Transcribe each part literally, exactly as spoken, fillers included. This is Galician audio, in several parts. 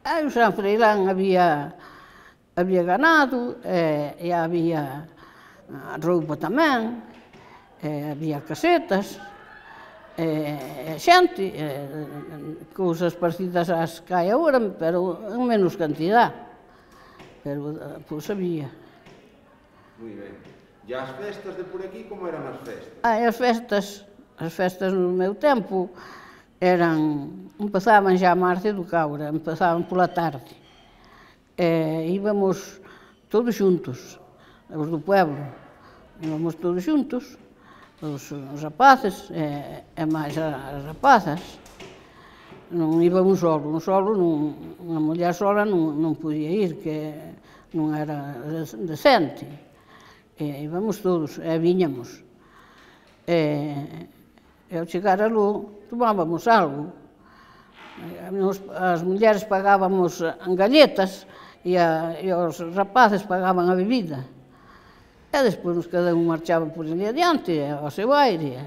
Aí o San Freilán había, había ganado, e, e había roupa tamén, e había casetas, e xente, e, cousas parecidas ás que hai agora, pero en menos cantidad. Pero, pois, había. Moi ben. E as festas de por aquí, como eran as festas? Ah, as festas, as festas no meu tempo, eran, empezaban xa a Marcia do Caura, empezaban pola tarde. E íbamos todos xuntos, os do pueblo, íbamos todos xuntos, os, os rapaces e, e máis as rapazas. Non iba un solo, un solo, non, unha muller sola non, non podía ir, que non era decente. E íbamos todos, e viñamos. E, E ao chegar aló, tomábamos algo. As mulleres pagábamos en galletas e, a, e os rapaces pagaban a bebida. E despois cada un marchaba por ali adiante, ao seu aire.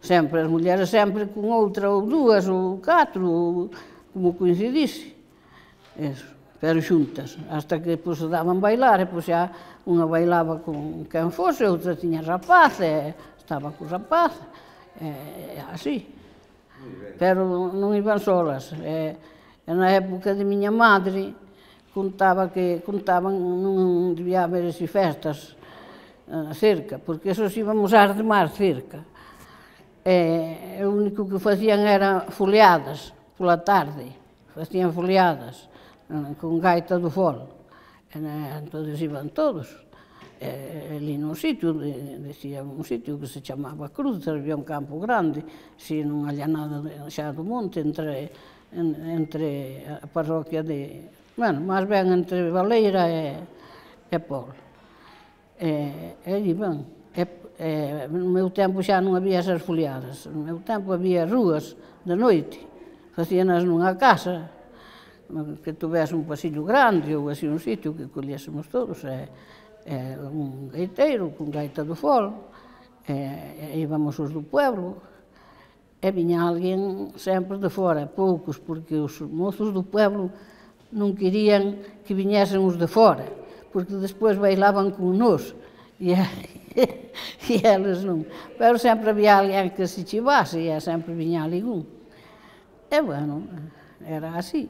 Sempre, as mulleres sempre con outra ou dúas ou catro, ou como coincidise. Eso, pero xuntas, hasta que depois se daban bailar, e pois xa unha bailaba con quen fose, outra tiña rapaz, e estaba co rapaz. É así, pero non iban solas. E na época de miña madre contaba que contaban non debía haber así festas cerca, porque esos íbamos ás de mar cerca. E o único que facían era foliadas pola tarde, facían foliadas con gaita do fol. Entón iban todos. E, ali nun sitio, decía un sitio que se chamaba Cruz, había un campo grande, si non había nada xa do monte, entre, entre a parroquia de, bueno, máis ben entre Baleira e, e Pol. E, e iban. E, e, no meu tempo xa non había esas foliadas, no meu tempo había rúas de noite, facíanas nunha casa, que tuvese un pasillo grande ou así un sitio que collésemos todos, e, e un gaiteiro con gaita do fol, e, e íbamos os do pueblo, e viña alguén sempre de fora, poucos, porque os mozos do pueblo non querían que viñesen os de fora, porque despois bailaban con nos, e, e eles non. Pero sempre había alguén que se chivase, e sempre viña algún. E, bueno, era así.